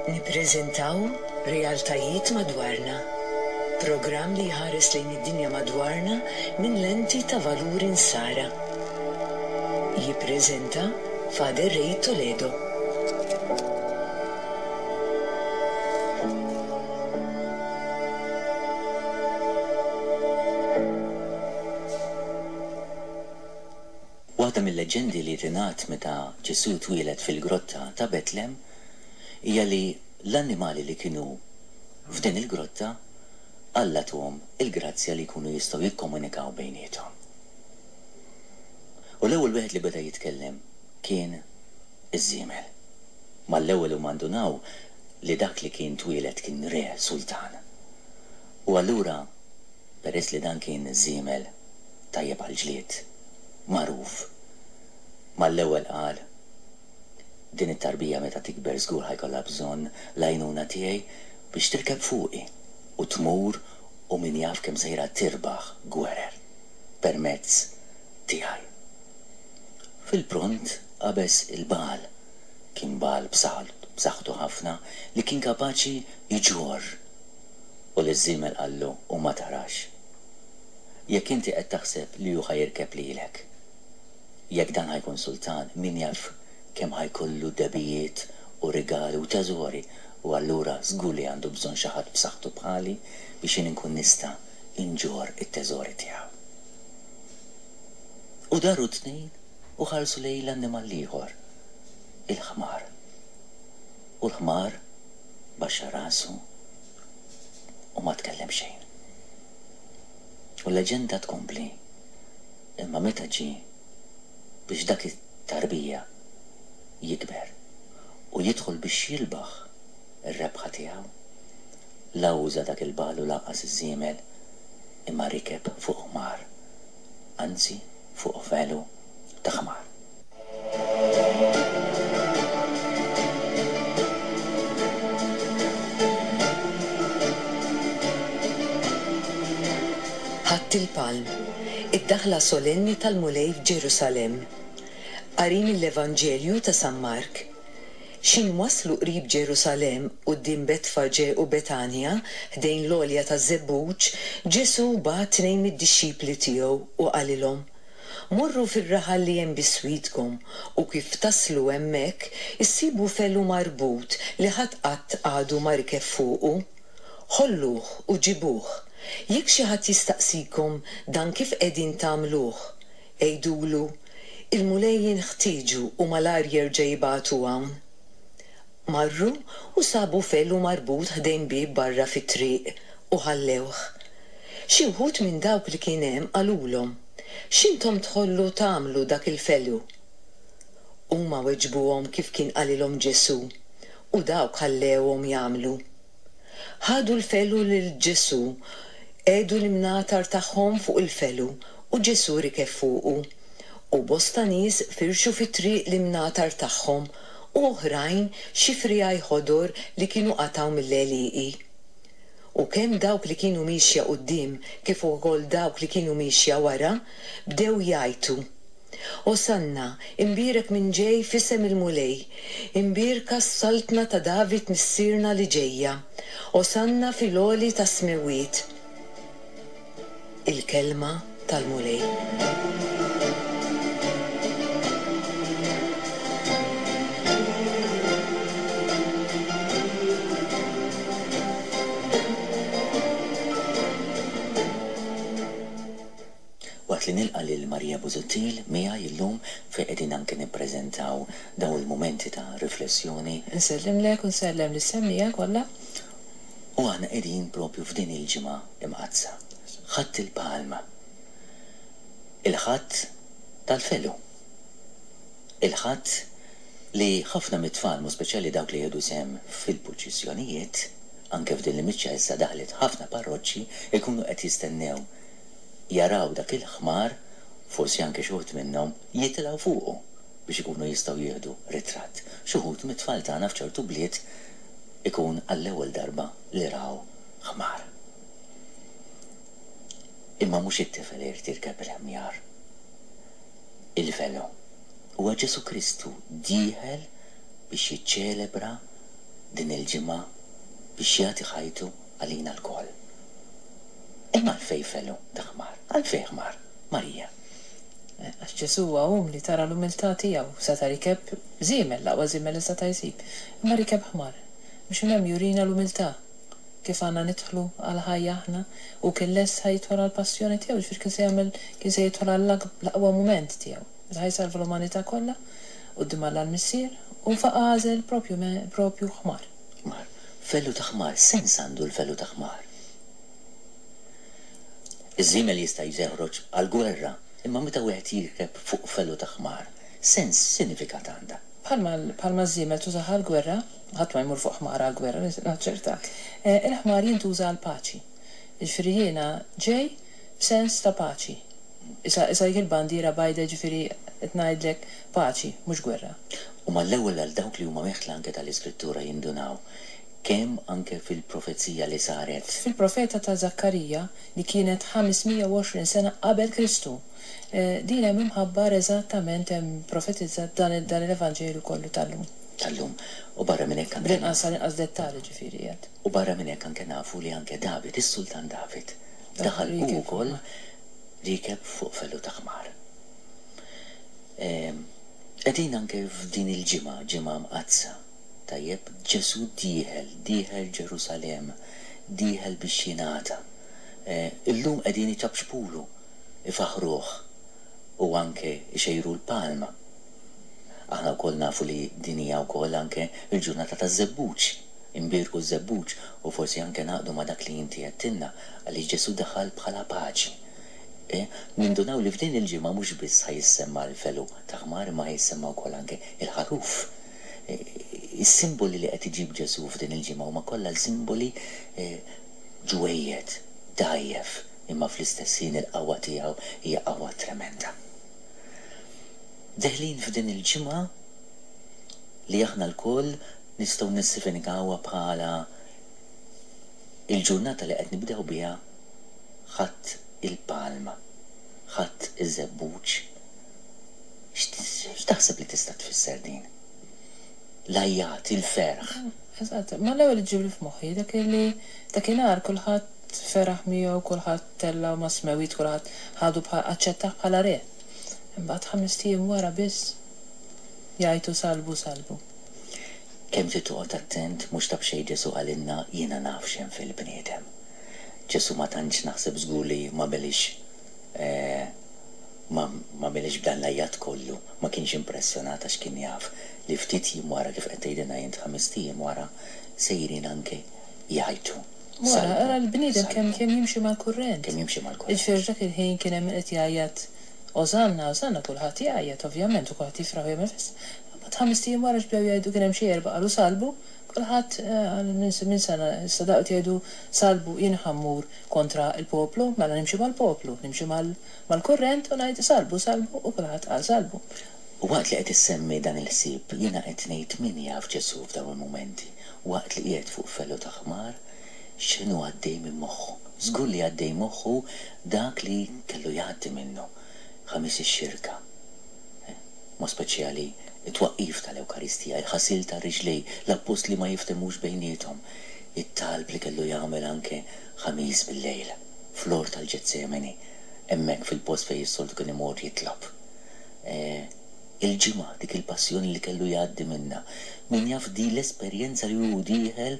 Nippreżentaw Realtajiet Madwarna, programm li jħares lejn id-dinja madwarna minn lenti ta' valuri Nsara. Jippreżenta Father Ray Toledo. Waħda mil-leġġendi li tingħad meta Ġesù twieled fil-grotta ta' Betlem hija li l-annimali li kienu f'din il-grotta Alla tuhom il-grazzja li jkunu jistgħu jikkomunikaw bejniethom. U l-ewwel wieħed li beda jitkellem kien iż-żiemel. Mal-ewwel huma ndunaw li dak li kien twieled kien re, sultan. U allura peress li dan kien żiemel tajjeb għall-ġlied, magħruf, mal-ewwel qal, Din it-tarbija meta tikber żgur ħa jkollha bżonn l-għajnuna tiegħi biex tirkeb fuqi u tmur u min jaf kemm sejra tirbaħ gwerer permezz tiegħi. Fil-pront qabeż il-bagħal, kien bagħal b'saħħtu ħafna li kien kapaċi jġorr. U liż-żiemel qallu u ma tarax. Jekk inti qed taħseb li hu ħa jirkeb lilek. Jekk dan ħa jkun sultan, min jaf kemm ħa jkollu dehbijiet u rigali u teżori, u allura żgur li għandu bżonn xi ħadd b'saħħtu bħali biex jien inkun nista' nġorr it-teżori tiegħu. U daru t-tnejn u ħarsu lejn l-annimal l-ieħor, il-ħmar. U l-ħmar baxxa rasu u ma tkellem xejn. U l-leġenda tkompli, Imma meta ġie biex dak it-tarbija jikber u jidħol biex jilbaħ ir-rebħa tiegħu, la uża dak il-bagħal u lanqas iż-żiemel, imma rikeb fuq ħmar, anzi fuq velu ta' ħmar. Ħadd il-Palm, id-daħla solenni tal-Mulej f'Ġerusalemm. Qari mill-Evanġelju ta' San Mark. X'ħin waslu qrib Ġerusalemm, quddiem Betfaġe u Betanja, ħdejn l-għolja taż-Żebbuġ, Ġesù bagħat tnejn mid-dixxipli tiegħu u qalilhom, Morru fir-raħal li hemm biswitkom, u kif taslu hemmhekk, issibu felu marbut li ħadd qatt għadu ma rikeb fuqu. Ħolluh u ġibuh. Jekk xi ħadd jistaqsikom dan kif qegħdin tagħmluh, għidulu, 'Il-Mulej jinħtieġu u malajr jerġa' jibagħtu hawn. Marru u sabu felu marbut ħdejn bieb barra fit-triq u ħallewh. Xi wħud minn dawk li kien hemm qalulhom, X'intom tħollu tagħmlu dak il-felu? Huma weġbuhom kif kien qalilhom Ġesù, u dawk ħallewhom jagħmlu. Ħadu l-felu lil Ġesù, qiegħdu l-imnatar tagħhom fuq il-felu, u Ġesù rikeb fuqu. U bosta nies firxu fit-triq l-imnatar tagħhom, u oħrajn xi friegħi ħodor li kienu qatgħu mill-għelieqi. U kemm dawk li kienu miexja quddiem kif ukoll dawk li kienu miexja wara, bdew jgħajtu, Osanna, imbierek min ġej f'isem il-Mulej, imbierka s-saltna ta' David missierna li ġejja, Osanna fil-għoli tas-smewwiet. Il-Kelma tal-Mulej. Waqt li nilqa' lil Maria Busuttil miegħi llum fejn qegħdin anke nippreżentaw dawn il-mumenti ta' riflessjoni. Insellimlek u nsellem lis-semmiegħa kollha. U aħna qegħdin propju f'din il-ġimgħa Imqaddsa, Ħadd il-Palm, il-Ħadd tal-Felu, il-Ħadd li ħafna mit-tfal, mod speċjali dawk li jieħdu sehem fil-purċissjonijiet, anke f'din l-imiċċa issa daħlet ħafna parroċċi, ikunu qed jistennew jaraw dak il-ħmar, forsi anke xi wħud minnhom jitilgħu fuqu biex ikunu jistgħu jieħdu ritratt. Xi wħud mit-tfal tagħna f'ċertu bliet ikun għall-ewwel darba li raw ħmar. Imma mhux it-tifel irid jirkeb il-ħmjar. Il-velu. Huwa Ġesù Kristu dieħel biex jiċċelebra din il-ġimgħa biex jagħti ħajtu għalina lkoll. Imma għalfejn felu ta' ħmar? Għalfejn ħmar, Marija? Għax Ġesù huwa umli, tara l-umiltà tiegħu. Seta' rikeb żiemel, l-aqwa żiemel li seta' jsib. Imma rikeb ħmar. Biex minn hemm jurina l-umiltà. Kif għandna nidħlu għall-ħajja aħna. Hu kien lest ħa jidħol għall-passjoni tiegħu, jiġifieri kien se jagħmel, kien se jidħol għall-aqwa mument tiegħu. Meta ħa jsalva l-umanità kollha quddiem Alla l-Missier, u faqa' għażel propju propju ħmar. Ħmar. Felu ta' ħmar, x'sens għandu l-felu ta' ħmar? Iż-żiemel jista' jeħroġ għall-gwerra, imma meta wieħed jirkeb fuq felu ta' ħmar, sens, x'sinifikat għandha? Bħalma bħalma ż-żiemel tużah għall-gwerra, ħadd ma jmur fuq ħmar għall-gwerra, naċċertak, il-ħmar jintuża għall-paċi. Jiġifieri jiena ġej b'sens ta' paċi. Isa isa dik il-bandiera bajda jiġifieri qed ngħidlek paċi, mhux gwerra. U mal-ewwel għal dawk li huma meħtla anke tal-Iskrittura jindunaw kemm anke fil-profezija li saret. Fil-profeta ta' Żakkarija, li kienet 520 sena qabel Kristu, din hemm imħabbar eżattament hemm profetizzat dan dan l-Evanġelju kollu tal-lum. Tal-lum. U barra minn hekk anke. Bl-inqas għall-inqas dettall jiġifieri qiegħed. U barra minn hekk anke nafu li anke David, is-sultan David, daħal hu wkoll riekeb fuq felu ta' ħmar. Qegħdin anke f'din il-ġimgħa, ġimgħa mqaddsa. Tajjeb, Ġesù dieħel, dieħel Ġerusalemm, dieħel biex jingħata. Illum qegħdin iċapċpulu, ifaħħruh u anke jxejru l-palm. Aħna wkoll nafu li din hija wkoll anke l-ġurnata taż-żebbuġ, inbierku ż-żebbuġ u forsi anke ngħaqdu ma' dak li inti għedtilna għaliex Ġesù daħal bħala paċi. Nindunaw li f'din il-ġimgħa mhux biss ħa jissemma l-felu ta' ħmar imma ħa jissemma wkoll anke l-ħaruf. Is-simboli li qed iġib Ġesù f'din il-ġimgħa huma kollha simboli ġwejjed, dgħajjef, imma fl-istess ħin il-qawwa tiegħu hija qawwa tremenda. Deħlin f'din il-ġimgħa li aħna lkoll nistgħu nissifinikawha bħala il-ġurnata li qed nibdew biha Ħadd il-Palm, Ħadd iż-Żebbuġ. X'taħseb li tista' tfisser din? L-għajjat, il-ferħ. Eżatt, ma l-ewwel li ġġibli f'moħħi dak li dakinhar kulħadd feraħ miegħu, kulħadd tellgħu mas-smewwiet, kulħadd ħadu bħal aċċettah bħala re. Imbagħad ħamest ijiem wara biss jgħajtu salbu, salbu. Kemm trid toqgħod attent, mhux ta' b'xejn Ġesù qalilna jiena naf x'hemm fil-bniedem. Ġesù ma tantx naħseb żgur li m'għamilhiex ma m'għamilhiex b'dan l-għajjat kollu, ma kienx impressjonat għax kien jaf li ftit jiem wara kif qed tgħidilna int ħamest ijiem wara sejrin anke jgħajtu, Wara, Salbu, ara l-bniedem kemm salbu. kemm jimxi mal-kurrent. Kemm jimxi mal-kurrent. Jiġifieri f'dak il-ħin kien hemm min qed jgħajjat Osanna, Osanna, kulħadd jgħajjat ovvjament u kulħadd jifraħ u jagħmel festa. Imbagħad ħamest ijiem wara x'bdew jgħidu kien hemm xi erbgħa qalu salbu, kulħadd qal minn minn sena issa daqu qed jgħidu salbu jien ħa mmur kontra l-poplu, mela nimxi mal-poplu, nimxi mal mal-kurrent u ngħid salbu, salbu u kulħadd qal salbu. U waqt li qed issemmi dan il-ħsieb, jiena qed ngħid min jaf Ġesù f'dawn il-mumenti, waqt li qiegħed fuq felu ta' ħmar, x'inhu għaddej minn moħħu. Żgur li għaddej moħħu dak li kellu jgħaddi minnu, Ħamis ix-Xirka, b'mod speċjali t-twaqqif tal-Ewkaristija, il-ħasil tar-riġlej, l-appostli ma jiftehmux bejniethom, it-talb li kellu jagħmel anke Ħamis bil-lejl, fl-ort tal-Ġetsemani, hemmhekk fil-post fejn is-soltu kien imur jitlob. Il-ġimgħa, dik il-passjoni li kellu jgħaddi minnha. Min jaf din l-esperjenza li hu dieħel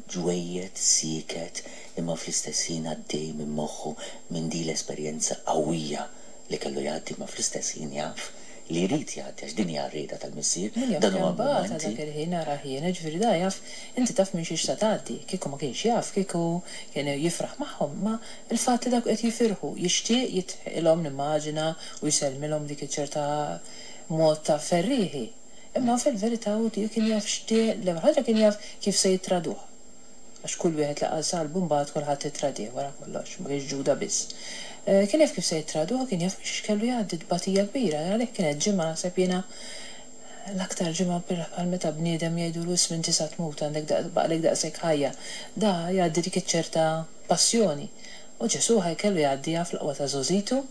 ġwejjed, sieket, imma fl-istess ħin għaddej minn moħħu minn din l-esperjenza qawwija li kellu jgħaddi imma fl-istess ħin jaf li jrid jgħaddi għax din hija r-rieda tal-Missier, Min jaf dan kemm huwa bagħatha mumenti. dak il-ħin arah jien, jiġifieri da jaf, inti taf minn xiex se tgħaddi, kieku ma kienx jaf, kieku kien jifraħ magħhom, imma l-fatt li dawk qed jifirħu, jixtieq jidħqilhom nimmaġina u jsellmilhom dik iċ-ċerta mod ta' ferrieħi. Imma fil-verità hu kien jaf x'die, l-ewwel ħaġa kien jaf kif se jittraduh. Għax kull wieħed li qal salbu mbagħad kulħadd ittradih wara kollox, ma kienx Ġuda biss. Kien jaf kif se jittraduh u kien jaf minn xiex kellu jgħaddi, tbatija kbira, għalhekk kienet ġimgħa naħseb jiena l-aktar ġimgħa bħal meta bniedem jgħidulu isma' inti sa tmut għandek baqgħlek daqshekk ħajja. Da jgħaddi dik iċ-ċerta passjoni. U Ġesù ħaj kellu jgħaddiha fl-aqwa ta' żgħożitu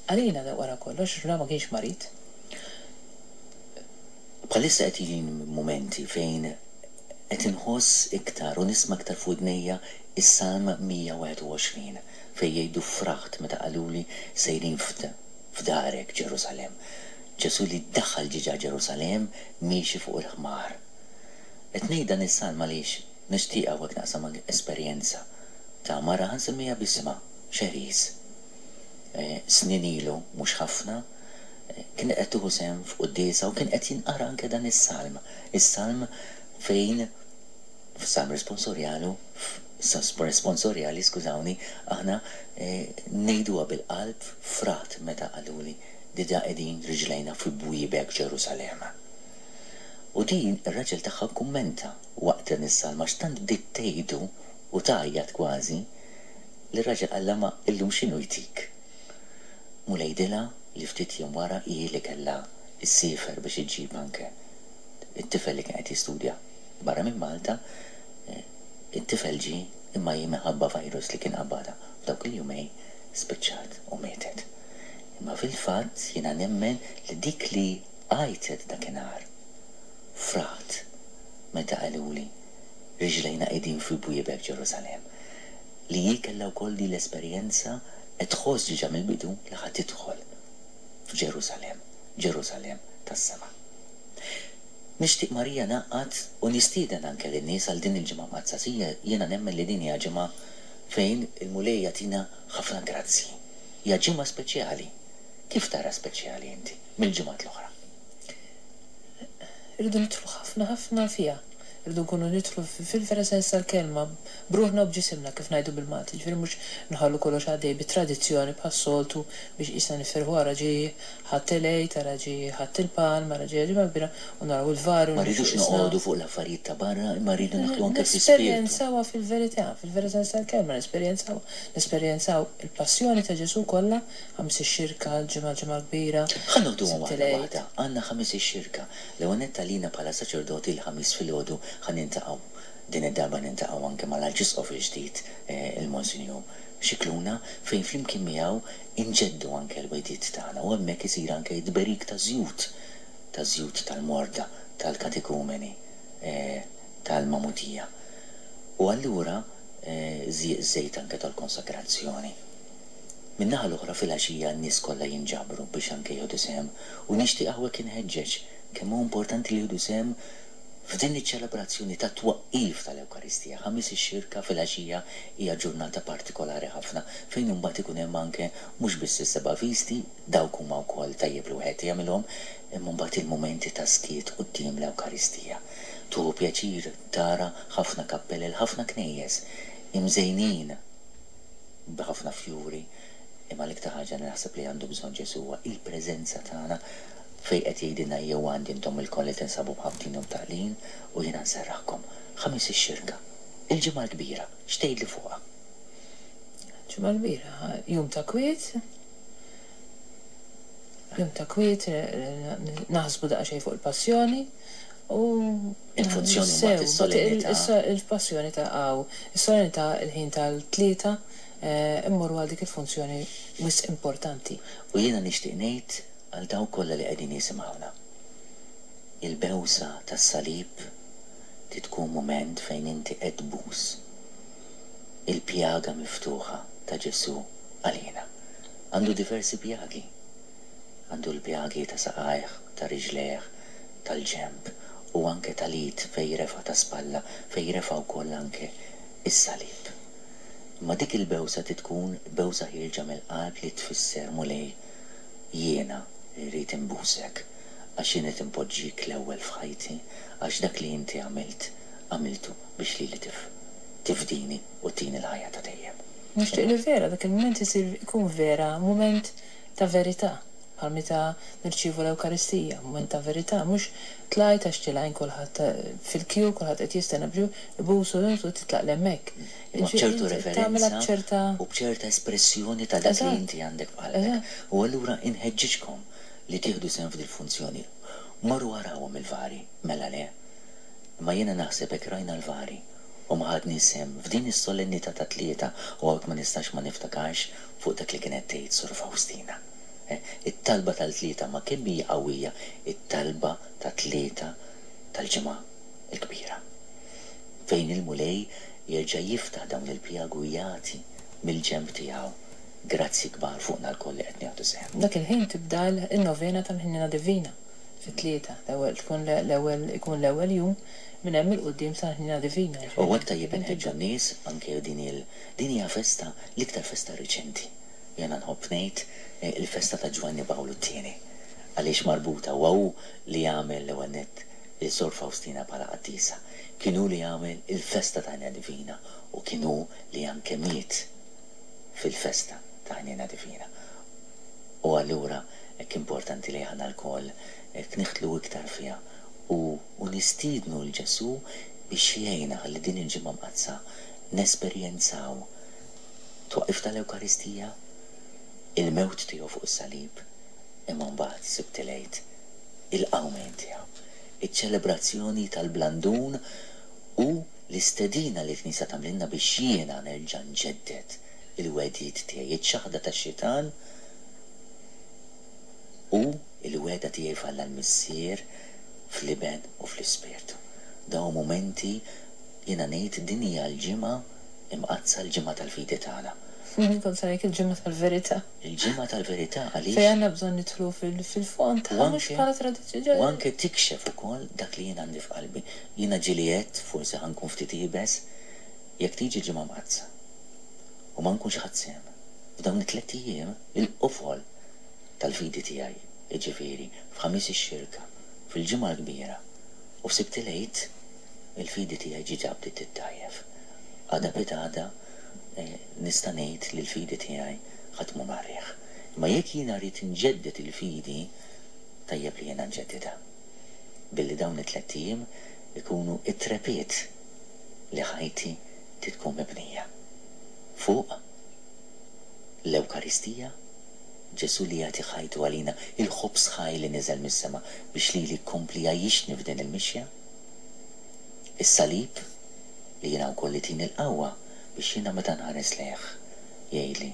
għalina da wara kollox għax da ma kienx marid. Bħalissa qed jiġini mumenti fejn. Qed inħoss iktar u nisma' iktar f'widnejja s-Salm 121 fejn jgħidu fraħt meta qaluli sejrin f'darek Ġerusalemm. Ġesù li daħal ġiġa Ġerusalemm miexi fuq il-ħmar. Qed ngħid dan is-salm għaliex nixtieq hawnhekk naqsam anke esperjenza ta' mara ħa nsemmiha b'isimha, Cherise. Snin ilu, mhux ħafna, kienet qed tieħu sehem f'quddiesa u kien qed jinqara anke dan is-salm. Is-salm fejn f'salm responsorjalu responsorjali, skużawni, aħna ngħiduha bil-qalb frat meta qaluli diġà qegħdin riġlejna fi bwiebek Ġerusalemm. U din ir-raġel tagħha kkummenta waqt dan is-salm għax tant bdiet tgħidu u tgħajjat kważi li r-raġel qallha ma illum x'inhu jtik? Mulej dilha li ftit jiem wara hi li kellha ssiefer biex iġġib anke it-tifel li kien qed jistudja barra minn Malta, it-tifel ġie imma hi minħabba virus li kien qabadha f'dawk il-jumejn spiċċat u mietet. Imma fil-fatt jiena nemmen li dik li għajtet dakinhar fraħt meta qaluli riġlejna qegħdin fi bwiebek Ġerusalemm. Li hi kellha wkoll din l-esperjenza qed tħoss diġà mill-bidu li ħa tidħol f'Ġerusalemm, Ġerusalemm tas-sema. Nixtieq Marija ngħaqqad u nistieden anke lin-nies għal din il-Ġimgħa Mqaddsa. Jiena nemmen li din hija ġimgħa fejn il-Mulej jagħtina ħafna grazzji. Hija ġimgħa speċjali. Kif tara speċjali inti mill-ġimgħat l-oħra? Irridu nidħlu ħafna ħafna fiha. Irridu nkunu nidħlu fil-vera sens tal-kelma, b'ruħna u b'ġisimna kif ngħidu bil-Malti. Jiġifieri mhux nħallu kollox għaddej bit-tradizzjoni bħas-soltu biex qisna nifirħu ara ġie Ħadd il-Għid, ara ġie Ħadd il-Palm, ara ġie Ġimgħa Kbira u naraw il-vari u Ma nimxu rridux qisna. noqogħdu fuq l-affarijiet ta' barra imma rridu nidħlu anke fl-ispirtu. Nesperjenzawha fil-verità, fil-vera sens tal-kelma nesperjenzawha. Nesperjenzaw il-passjoni ta' Ġesù kollha, Ħamis ix-Xirka, l-Ġimgħa l-Ġimgħa l-Kbira, Ħa noħduhom Sibt waħda il-Għid. waħda. Għandna Ħamis ix-Xirka. L-ewwel nett għalina bħala saċerdoti l-Ħamis filgħodu ħa niltaqgħu, din id-darba niltaqgħu anke mal-Arċisqof il-ġdid, il-Monsinjur Scicluna, fejn flimkien miegħu inġeddu anke l-wegħdiet tagħna u hemmhekk isir anke t-tberik taż-żjut, taż-żjut tal-morda, tal-katekumeni, tal-magħmudija. U allura żejt anke tal-konsagrazzjoni. Min-naħa l-oħra filgħaxija n-nies kollha jinġabru biex anke jieħdu sehem u nixtieq hawnhekk inħeġġeġ kemm hu importanti li jieħdu sehem F'din iċ-ċelebrazzjoni tat-twaqqif tal-Ewkaristija, Ħamis ix-Xirka filgħaxija hija ġurnata partikolari ħafna fejn imbagħad ikun hemm anke mhux biss is-seba' visti, dawk huma wkoll tajjeb li wieħed jagħmilhom, imma mbagħad il-mumenti ta' skiet quddiem l-Ewkaristija. Tieħu pjaċir tara ħafna kappelel, ħafna knejjes imżejnin b'ħafna fjuri, imma l-iktar ħaġa li naħseb li għandu bżonn Ġesù huwa il-preżenza tagħna Fejn qed jgħidilna ejjew għandi intom ilkoll li tinsabu mħabbtin u mtaqqlin u jiena nserraħkom. Ħamis ix-Xirka. Il-Ġimgħa l-Kbira, x'tgħidli fuqha? Ġimgħa l-Kbira, jum ta' kwiet, jum ta' kwiet, naħsbu daqsxejn fuq il-passjoni u Il-funzjoni mbagħad sew, is-solennità. Il-passjoni ta' hawn, is-solennità il-ħin tal-tlieta mmorru għal dik il-funzjoni wisq importanti. U jiena nixtieq ngħid Għal dawk kollha li qegħdin jisimgħuna, il-bewsa tas-salib trid tkun mument fejn inti qed tbus il-pjaga miftuħa ta' Ġesù għalina. Għandu diversi pjagi. Għandu l-pjagi ta' saqajh, ta' riġlejh, tal-ġenb u anke tal-id fejn refa' ta' spalla, fejn refa' wkoll anke s-salib. Imma dik il-bewsa trid tkun bewsa ħierġa mill-qalb li tfisser, Mulej, Jiena rrid inbusek għax jien qed inpoġġik l-ewwel f'ħajti għax dak li inti għamilt, għamiltu biex lili tifdini u ttini l-ħajja ta' dejjem. Nixtieq li vera dak il-mument isir ikun vera mument ta' verità, bħal meta nirċievu l-Ewkaristija, mument ta' verità, mhux tlajt għax tilgħin kulħadd fil-kju, kulħadd qed jistenna biex ibusu u titlaq 'l hemmhekk. Imma b'ċertu reverenza u b'ċerta espressjoni ta' dak li inti għandek f'qalbek. U allura inħeġġiġkom li tieħdu sehem f'dil-funzjoni. Morru arawhom il-vari, mela le? Imma jiena naħseb hekk rajna l-vari u ma ħadniex sehem f'din is-solennità tat-Tlieta u hawnhekk ma nistax ma niftakarx fuq dak li kienet tgħid Sur Fawstina. It-talba tal-Tlieta ma kemm hija qawwija it-talba tat-Tlieta tal-Ġimgħa l-Kbira. Fejn il-Mulej jerġa' jiftaħ dawn il-pjagi u jagħti mill-ġenb tiegħu grazzji kbar fuqna lkoll li qed nieħdu sehem. Dak il-ħin tibda n-novena tal-Ħniena Divina fit-tlieta, l-ewwel tkun l-ewwel ikun l-ewwel jum minn hemm 'il quddiem sal-Ħniena Divina, U jiġifieri hekk tajjeb inħeġġu n-nies anke din il din hija festa l-iktar festa riċenti. Jiena nħobb ngħid il-festa ta' Ġwanni Pawlu t-Tieni għaliex marbuta huwa hu li għamel l-ewwel nett lil Sor Fawstina bħala qaddisa. Kien hu li għamel il-festa ta' Ħniena Divina u kien hu li anke miet fil-festa ta' Ħniena Divina. U allura hekk importanti li aħna lkoll hekk nidħlu iktar fiha u u nistiednu 'l Ġesù biex jgħinna ħalli din il-Ġimgħa Mqaddsa nesperjenzaw twaqqif tal-Ewkaristija, il-mewt tiegħu fuq is-salib, imma mbagħad Sibt il-Għid, il-qawmien tiegħu, iċ-ċelebrazzjoni tal-Blandun u l-istedina li l-Knisja tagħmlilna biex jiena nerġa' nġedded il-wegħdiet tiegħi, iċ-ċaħda tax-xitan u l-wegħda tiegħi f'Alla l-Missier, fl-Iben u fl-Ispirtu. Dawn mumenti jiena ngħid din hija l-ġimgħa Imqaddsa, l-ġimgħa tal-fidi tagħna. Kont se ngħid il-ġimgħa tal-verità. Il-ġimgħa tal-verità għaliex. Fejn għandna bżonn nidħlu fil-fond tagħha mhux bħala tradizzjoni. U anke tikxef ukoll dak li jien għandi f'qalbi. Jiena ġieli għedt, forsi ħa nkun ftit iebes, jekk tiġi l-Ġimgħa Mqaddsa u ma nkunx ħadt sehem f'dawn it-tlett ijiem, il-qofol tal-fidi tiegħi, jiġifieri f'Ħamis ix-Xirka, fil-Ġimgħa l-Kbira u f'Sibt il-Għid, il-fidi tiegħi ġiġa bdiet tiddgħajjef. Għada pitgħada nista' ngħid li l-fidi tiegħi ħa tmur mar-riħ. Imma jekk jiena rrid inġedded il-fidi, tajjeb li jiena nġeddidha billi dawn it-tlett ijiem ikunu t-trepied li ħajti trid tkun mibnija fuq l-Ewkaristija, Ġesù li jagħti ħajtu għalina, il-ħobż ħaj li niżel mis-sema biex lili jkompli jgħajjixni f'din il-mixja. Is-salib li jiena wkoll itini l-qawwa biex jiena meta nħares lejh jgħidli,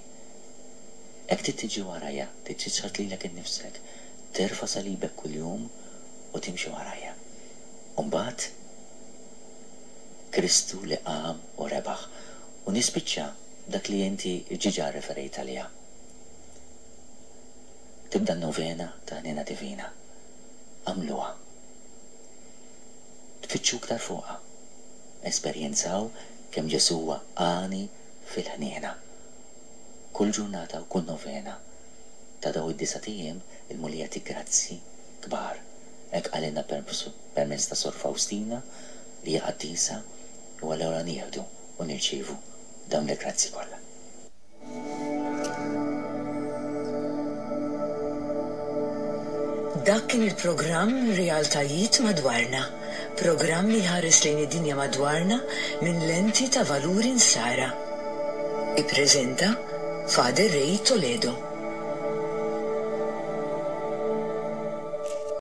Hekk trid tiġi warajja, trid tiċħad lilek innifsek, terfa' salibek kuljum u timxi warajja. U mbagħad Kristu li qam u rebaħ. U nispiċċa b'dak li inti ġiġa rreferejt għaliha. Tibda n-novena ta' Ħniena Divina. Agħmluha. Tfittxu iktar fuqha. Esperjenzaw kemm Ġesù huwa għani fil-ħniena. Kull ġurnata u kull novena ta' dawn id-disat ijiem il-Mulej jagħti grazzi kbar. Hekk qalilna permezz ta' Sor Fawstina li hija qaddisa u allura nieħdu u nirċievu dawn il-grazzi kollha. Dak kien il-programm Realtajiet Madwarna, programm li jħares lejn id-dinja madwarna minn lenti ta' valuri Nsara. Ippreżenta Father Ray Toledo.